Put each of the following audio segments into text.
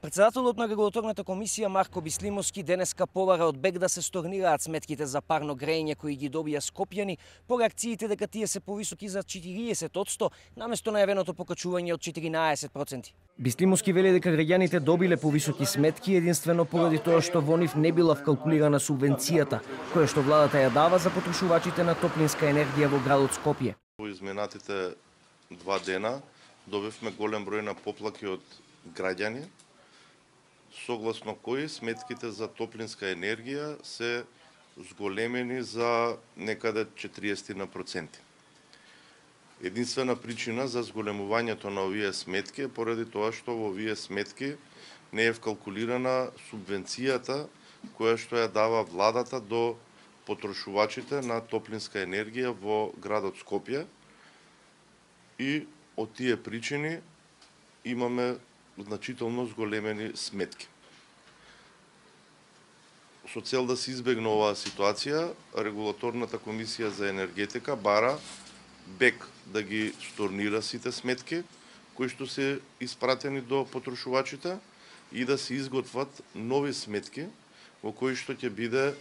Председателот на регулаторната комисија Марко Бислимовски денеска побара од БЕК да се сторнираат сметките за парно грејење кои ги добија Скопјани по реакциите дека тие се повисоки за 40% наместо најавеното покачување од 14%. Бислимовски вели дека граѓаните добиле повисоки сметки единствено поради тоа што во нив не била вкалкулирана субвенцијата која што владата ја дава за потрошувачите на топлинска енергија во градот Скопје. Во изминатите 2 дена добивме голем број на поплаки од граѓани, согласно кои сметките за топлинска енергија се зголемени за некаде 40%. Единствена причина за зголемувањето на овие сметки е поради тоа што во овие сметки не е вкалкулирана субвенцијата која што ја дава владата до потрошувачите на топлинска енергија во градот Скопје и од тие причини имаме значително зголемени сметки. Со цел да се избегне оваа ситуација, регулаторната комисија за енергетика бара БЕК да ги сторнира сите сметки кои што се испратени до потрошувачите и да се изготват нови сметки во кои што ќе биде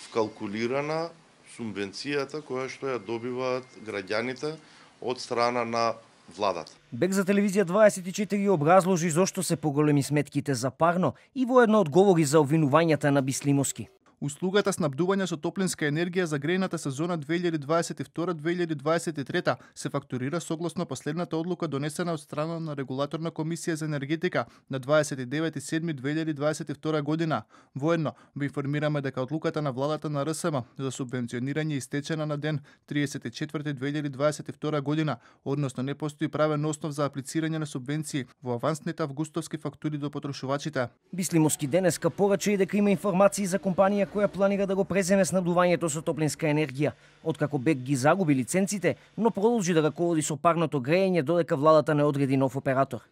вкалкулирана субвенцијата која што ја добиваат граѓаните од страна на владата. БЕК за телевизија 24 образложи зошто се поголеми сметките за парно и воедно одговори за обвинувањата на Бислимовски. Услугата снабдување со топлинска енергија за грејната сезона 2022-2023 се фактурира согласно последната одлука донесена од страна на регулаторна комисија за енергетика на 29.7.2022 година. Воедно ви информираме дека одлуката на владата на РСМ за субвенционирање истечена на ден 30.4.2022 година, односно не постои правен основ за аплицирање на субвенции во авансните августовски фактури до потрошувачите. Бислимовски денеска порача и дека има информации за компанија која планира да го преземе снабдувањето со топлинска енергија, откако БЕК ги загуби лиценците, но продолжи да раководи со парното грејење додека владата не одреди нов оператор.